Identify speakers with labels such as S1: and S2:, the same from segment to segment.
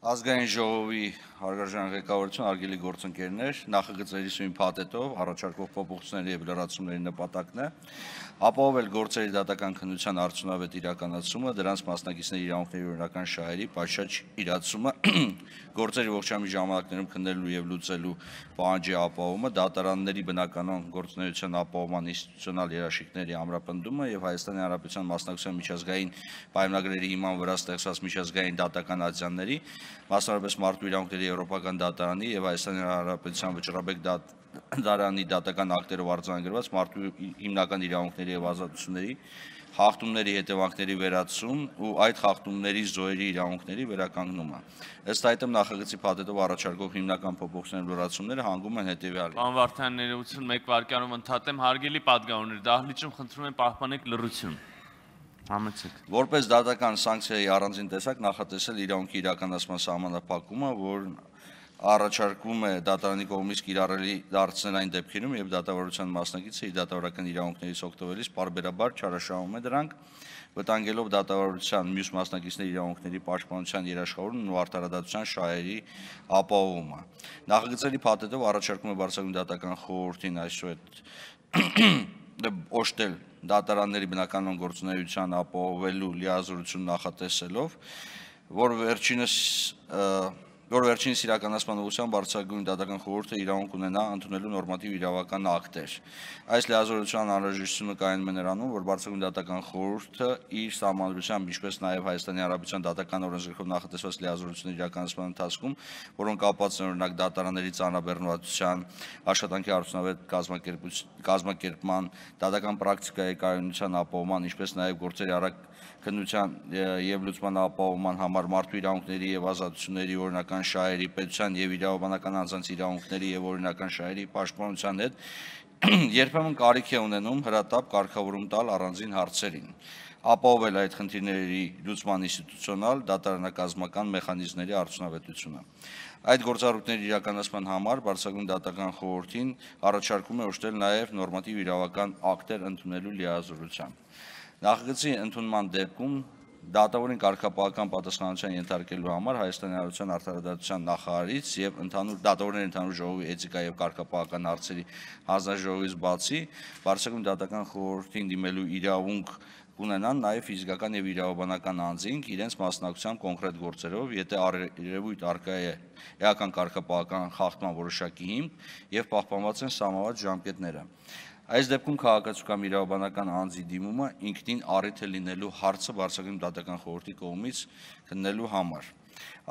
S1: Ազգային ժողովի հարգարժան ղեկավարություն, հարգելի գործընկերներ, նախագծերի սույն փաթեթով առաջարկվող փոփոխությունների և լրացումների նպատակն է ապահովել գործերի դատական քննության արդյունավետ իրականացումը, դրանց մասնակիցների իրավունքների օրինական շահերի պատշաճ իրացումը, գործերի ողջամիտ ժամանակներում քննելու և լուծելու պահանջի ապահովումը, դատարանների բնականոն գործունեության ապահովման ինստիտուցիոնալ երաշխիքների ամրապնդումը և Հայաստանի Հանրապետության մասնակցության միջազգային պայմանագրերի հիման վրա ստեղծված միջազգային դատական ատյանների, մասնավորապես մարդու իրավունքների եվրոպական դատարանի և Հայաստանի Հանրապետության վճռաբեկ դատարանի դատական ակտերով արձանագրված մարդու հիմնական իրավունքների և ազատությունների խախտումների հետևանքների վերացում ու այդ խախտումների զոհերի իրավունքների վերականգնումը։ Ըստ այդմ նախագծի փաթեթով առաջարկվող հիմնական փոփոխությունների լրացումները հանգում են հետևյալին։
S2: Պարոն Վարդանյան, ներողություն, մեկ վայրկյանում ընդհատեմ, հարգելի պատգամավորներ, դահլիճում խնդրում եմ պահպանեք լռություն։
S1: Որպես դատական սանկցիայի առանձին տեսակ նախատեսել իրավունքի իրականացման սահմանափակումը, որն առաջարկվում է դատարանի կողմից կիրառելի դարձնել այն դեպքերում, երբ դատավարության մասնակիցը իր դատավարական իրավունքներից օգտվելիս պարբերաբար չարաշահում է դրանք, վտանգելով դատավարության մյուս մասնակիցների իրավունքների պաշտպանության երաշխավորումն ու արդարադատության շահերի ապահովումը։ Նախագծերի փաթեթով առաջարկում է բարձրագույն դատական խորհրդին օժտել դատարանների բնականոն գործունեության ապահովելու լիազորություն նախատեսելով, որ վերջինիս իրականացման ուղղությամբ բարձրագույն դատական խորհուրդը իրավունք ունենա ընդունելու նորմատիվ իրավական ակտեր։ Այս լիազորության անհրաժեշտությունը կայանում է նրանում, որ բարձրագույն դատական խորհուրդը իր սահմանադրությամբ, ինչպես նաև Հայաստանի Հանրապետության դատական օրենսգրքով նախատեսված լիազորությունների իրականացման ընթացքում, որոնք կապված են օրինակ դատարանների ծանրաբեռնվածության, աշխատանքի արդյունավետ կազմակերպման, դատական պրակտիկայի կայունության ապահովման, ինչպես նաև գործերի արագ քննության և լուծման ապահովման համար մարդու իրավունքների և ազատությունների օրինական շահերի, պետության և իրավաբանական անձանց իրավունքների և օրինական շահերի պաշտպանության հետ երբեմն կարիք է ունենում հրատապ կարգավորում տալ առանձին հարցերին, ապահովել այդ խնդիրների լուծման ինստիտուցիոնալ, դատարանակազմական մեխանիզմների արդյունավետությունը։ Այդ գործառույթների իրականացման համար բարձրագույն դատական խորհրդին առաջարկում է օժտել նաև նորմատիվ իրավական ակտեր ընդունելու լիազորությամբ։ Նախագծի ընդունման դեպքում դատավորին կարգապահական պատասխանատվության ենթարկելու համար Հայաստանի Հանրապետության արդարադատության նախարարից և դատավորների ընդհանուր ժողովի էթիկա և կարգապահական հարցերի հանձնաժողովից բացի բարձրագույն դատական խորհրդին դիմելու իրավունք կունենան նաև ֆիզիկական և իրավաբանական անձինք իրենց մասնակցությամբ կոնկրետ գործերով, եթե երևույթ առկա է էական կարգապահական խախտման որոշակի հիմք և պահպանված են սահմանված ժամկետները։ Այս դեպքում քաղաքացու կամ իրավաբանական անձի դիմումը ինքնին առիթ է լինելու հարցը բարձրագույն դատական խորհրդի կողմից քննելու համար։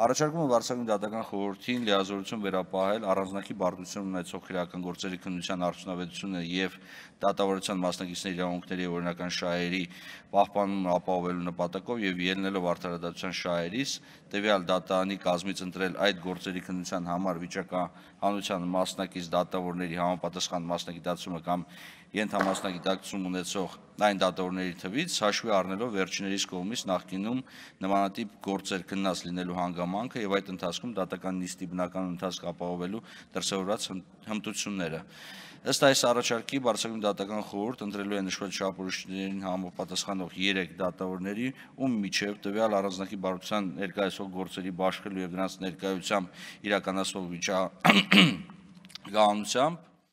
S1: Առաջարկում է բարձրագույն դատական խորհրդին լիազորություն վերապահել առանձնակի բարդություն ունեցող քրեական գործերի քննության արդյունավետությունը և դատավարության մասնակիցների իրավունքների և օրինական շահերի պահպանումը ապահովելու նպատակով և ելնելով արդարադատության շահերից, տվյալ դատարանի կազմից ընտրել այդ գործերի քննության համար վիճակահանության մասնակից դատավորների համապատասխան մասնագիտացումը կամ ենթամասնագիտակցում ունեցող այն դատավորների թվից, հաշվի առնելով վերջիններիս կողմից նախկինում նմանատիպ գործեր քննած լինելու հանգամանքը և այդ ընթացքում դատական նիստի բնականոն ընթացք ապահովելու դրսևորված հմտությունները։ Ըստ այս առաջարկի բարձրագույն դատական խորհուրդ ընտրելու է նշվել չափորոշիչներին համապատասխանող 3 դատավորների, ում միջև տվյալ առանձնակի բարդության ներկայացվող գործերի բաշխելու և դրանց ներկայությամբ իրականացվող վիճակահանությամբ